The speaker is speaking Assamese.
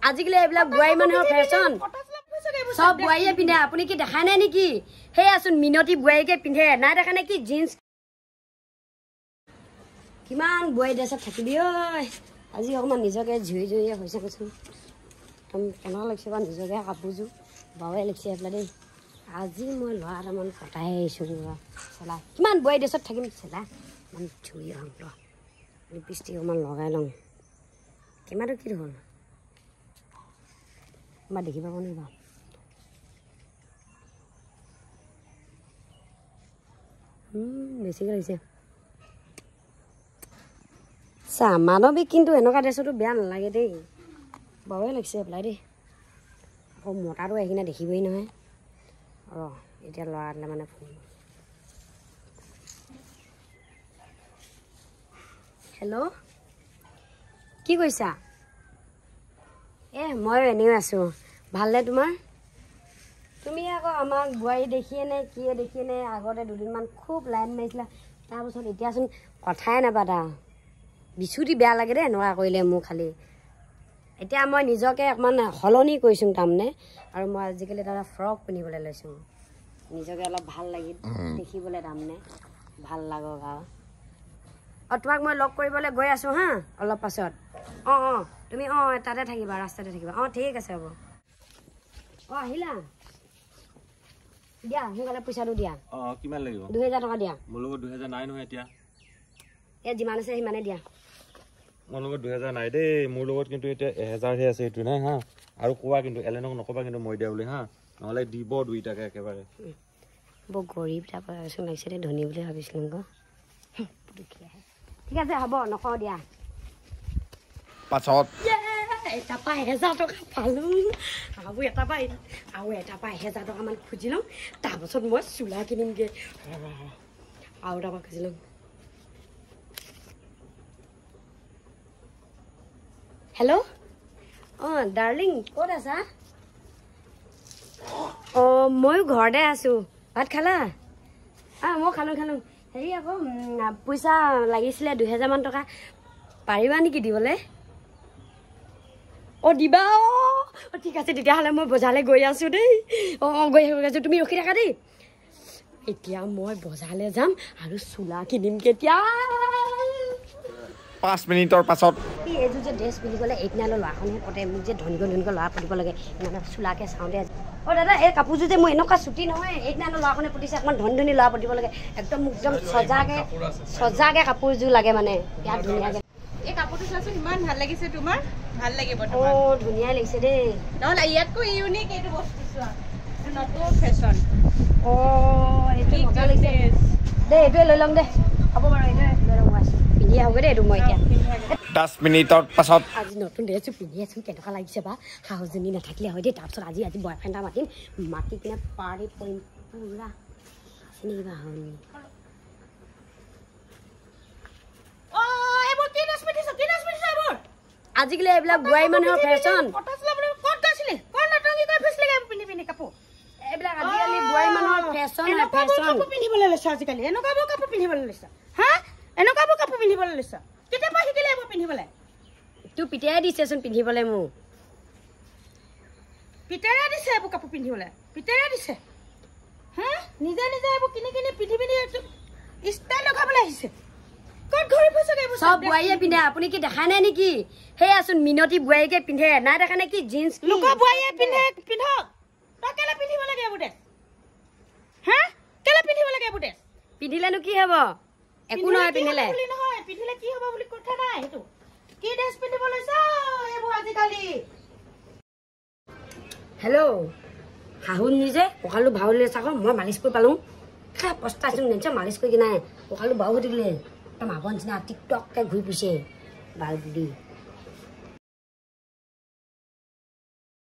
আজিকালি এইবিলাক বোৱাৰী মানুহৰ ফেশ্বন, চব বোৱাৰীয়ে পিন্ধে। আপুনি কি দেখা নাই নেকি? সেয়াচোন মিনতি বোৱাৰীকে পিন্ধে, নাই দেখা নে কি জিন্স? কিমান বোৱাৰী ড্ৰেছত থাকিবি ঐ। আজি অকণমান নিজকে ঝুৰি ঝুৰিয়ে হৈছে কৈছোন, একদম কেনেকুৱা লাগিছে বাৰু নিজকে। কাপোৰযোৰ বাৱে লাগিছে এইফালে দেই। আজি মই ল'ৰা এটামান পতাই আহিছোঁ চেলা। কিমান বোৱাৰী ড্ৰেছত থাকিম চেলা, ইমান ঝুৰি হওঁ ৰ। লিপষ্টিক অকণমান লগাই লওঁ। কেমেৰাটো কি হ'ল বা দেখি পাব নেকি বাৰু? বেছিকৈ লাগিছে। চা মানৱিক কিন্তু এনেকুৱা ড্ৰেছতো বেয়া নালাগে দেই, বাৱে লাগিছে এপ্লাই দেই। আকৌ মতাটো আহি কিনে দেখিবই নহয়। ৰ এতিয়া ল'ৰা এটালে মানে ফোন। হেল্ল', কি কৰিছা? ময়ো এনেও আছোঁ। ভালনে তোমাৰ? তুমি আকৌ আমাক বোৱাৰী দেখিয়ে নে কিয়ে দেখিয়ে নে আগতে দুদিনমান খুব লাইন মাৰিছিলা, তাৰপাছত এতিয়াচোন কথাই নাপাতা। বিচুতি বেয়া লাগে দেই এনেকুৱা কৰিলে মোৰ খালি। এতিয়া মই নিজকে অকণমান সলনি কৰিছোঁ তাৰমানে, আৰু মই আজিকালি তাৰমানে ফ্ৰক পিন্ধিবলৈ লৈছোঁ, নিজকে অলপ ভাল লাগি দেখিবলৈ তাৰমানে ভাল লাগক আৰু। অঁ তোমাক মই লগ কৰিবলৈ গৈ আছোঁ হা, অলপ পাছত। অঁ অঁ তুমি অঁ তাতে থাকিবা, ৰাস্তাতে থাকিবা। অঁ ঠিক আছে হ'ব। অঁ আহিলা দিয়া, সোনকালে পইচাটো দিয়া। অঁ কিমান লাগিব? 2000 টকা দিয়া। মোৰ লগত 2000 নাই নহয় এতিয়া। এই যিমান আছে সিমানে দিয়া। মোৰ লগত 2000 নাই দেই, মোৰ লগত কিন্তু এতিয়া 1000হে আছে। এইটো নাই হা। আৰু কোৱা কিন্তু এলেনক নকবা কিন্তু মই দিয়া বুলি হা, নহ'লে দিব দুইটাকে একেবাৰে। বৰ গৰীব টাইপৰ লাগিছে দেই, ধনী বুলি ভাবিছিলোঁ আকৌ। ঠিক আছে হ'ব, নকওঁ দিয়া। পাছত এটাৰ পৰা 1000 টকা পালোঁ, আৰু এটাৰ পৰা আৰু এটাৰ পৰা 1000 টকামান খুজি লওঁ, তাৰপাছত মই চোলা কিনিমগৈ। আৰু এটাৰ পৰা খুজি লওঁ। হেল্ল' অঁ ডাৰ্লিং, ক'ত আছা? অঁ ময়ো ঘৰতে আছোঁ। ভাত খালা? অঁ মই খালোঁ খালোঁ। হেৰি আকৌ পইচা লাগিছিলে 2000মান টকা, পাৰিবা নেকি দিবলৈ? অঁ দিবা? অঁ ঠিক আছে, তেতিয়াহ'লে মই বজাৰলৈ গৈ আছোঁ দেই। অঁ অঁ গৈ আছোঁ, তুমি ৰখি থাকা দেই। এতিয়া মই বজাৰলৈ যাম আৰু চোলা কিনিম কেতিয়া? 5 মিনিটৰ পাছত। এইযোৰ যে ড্ৰেছ পিন্ধি গ'লে এইট নাইনৰ ল'ৰাখনহে পতে, মোক যে ধনীকৈ ধনীকৈ ল'ৰা পতিব লাগে, ইমান চোলাকে চাওঁ দে। অঁ দাদা, এই কাপোৰযোৰ যে মোৰ এনেকুৱা চুটি নহয়, এইট নাইনৰ ল'ৰাখনে পতিছে, অকণমান ধনী ধনী ল'ৰা পতিব লাগে, একদম মোক একদম সজাকে সজাকে কাপোৰযোৰ লাগে মানে, ইয়াত ধুনীয়াকে। এই কাপোৰটো চোৱাচোন, ইমান ভাল লাগিছে তোমাৰ। ভাল লাগিব তোমাক। অঁ ধুনীয়া লাগিছে দেই। নহ'লে ইয়াতকৈ ইউনিক এইটো বস্তু চোৱা, নতুন ফেশ্বন। অঁ এইটো মজা লাগিছে দেই, এইটোৱে লৈ ল'ম দে। হ'ব বাৰু, এইটোৱে লৈ ল'ম, আছোঁ পিন্ধি আহোঁগৈ দেই এইটো মই এতিয়া। 10 মিনিটৰ পাছত। আজি নতুন ড্ৰেছটো পিন্ধি আছোঁ, কেনেকুৱা লাগিছে বা? শাহুজনী নাথাকিলে হয় দেই। তাৰপিছত আজি আজি বয়ফ্ৰেণ্ড এটা মাতিম, মাতি কিনে পাৰ্টি কৰিম পূৰা। আছে নেকি বা শাহুজনী? আজিকালি এইবিলাক বোৱাৰী মানুহৰ ফেশ্বন, এইবিলাক আজিকালি বোৱাৰী মানুহৰ ফেশ্বন। কাপোৰ পিন্ধিবলৈ লৈছ আজিকালি, এনেকুৱাবোৰ কাপোৰ পিন্ধিবলৈ লৈছ হা? এনেকুৱাবোৰ কাপোৰ পিন্ধিবলৈ লৈছ, কেতিয়াৰ পৰা শিকিলে এইবোৰ পিন্ধিবলৈ? তোৰ পিতাই দিছেচোন পিন্ধিবলৈ মোক। পিতাৰে দিছে এইবোৰ কাপোৰ পিন্ধিবলৈ, পিতাৰে দিছে হা? নিজে নিজে এইবোৰ কিনি কিনি পিন্ধি পিন্ধি ষ্টাইল লগাবলৈ আহিছে। চব বোৱাৰীয়ে পিন্ধে, আপুনি কি দেখা নাই নেকি? সেয়াচোন মিনতি বোৱাৰীকে পিন্ধে, নাই দেখা নে কি জিন্স? লোকৰ বোৱাৰীয়ে পিন্ধে পিন্ধক, তই কেলে পিন্ধিব লাগে এইবোৰ ড্ৰেছ হা? কেলে পিন্ধিব লাগে এইবোৰ ড্ৰেছ? পিন্ধিলেনো কি হ'ব? একো নহয় পিন্ধিলে। নহয় পিন্ধিলে কি হ'ব বুলি কথা নাই। সেইটো কি ড্ৰেছ পিন্ধিব লৈছ এইবোৰ আজিকালি? হেল্ল' শাহুন নিজে কঁকালটো ভাউলে চাক, মই মালিচ কৰি পালোঁ। খাই পস্তাইছোঁ নিশ্চয় মালিচ কৰি কিনে, কঁকালটো বাও হৈ থাকিলে একদম আগৰ নিচিনা টিকটককৈ ঘূৰি ফুৰিছে বাল বুলি।